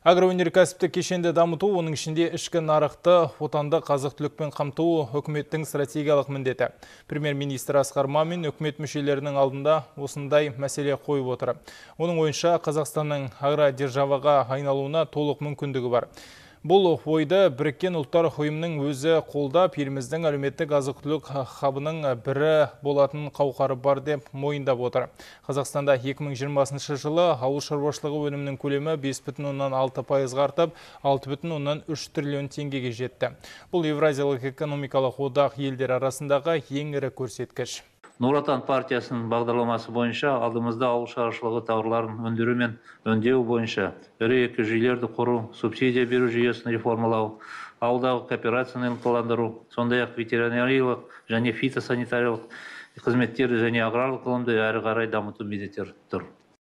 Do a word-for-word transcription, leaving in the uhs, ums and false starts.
Агроөнеркәсіптік кешенді дамыту, оның ішінде ішкі нарықты отандық азық-түлікпен қамту үкіметтің стратегиялық міндеті. Премьер-министр Асқар Мамин үкімет мүшелерінің алдында осындай мәселе қойып отыр. Оның ойынша Қазақстанның агродержаваға айналуына толық мүмкіндігі бар. Бұл ойды Біріккен ұлттар ұйымының өзі қолдап, еліміздің әлеуметтік азық-түлік хабының бірі болатын қауқары бар деп мойындап отыр. Қазақстанда екі мың жиырмасыншы жылы ауыл шаруашылығы өнімінің көлемі бес бүтін оннан алты пайызға артып, алты бүтін оннан үш триллион теңгеге жетті. Бұл Евразиялық экономикалық одақ елдер арасындағы ең ірі көрсеткіш. Нұр Отан партиясының бағдарламасы бойынша алдымызда ауыл шаруашылығы тауарларын өндіру мен өңдеу бойынша ірі экожүйелерді құру, субсидия беру жүйесін реформалау, ауылдағы кооперацияны ынталандыру, сондай-ақ ветеринариялық және фитосанитариялық қызметтерді және аграрлық ғылымды әрі қарай дамыту міндеттері тұр.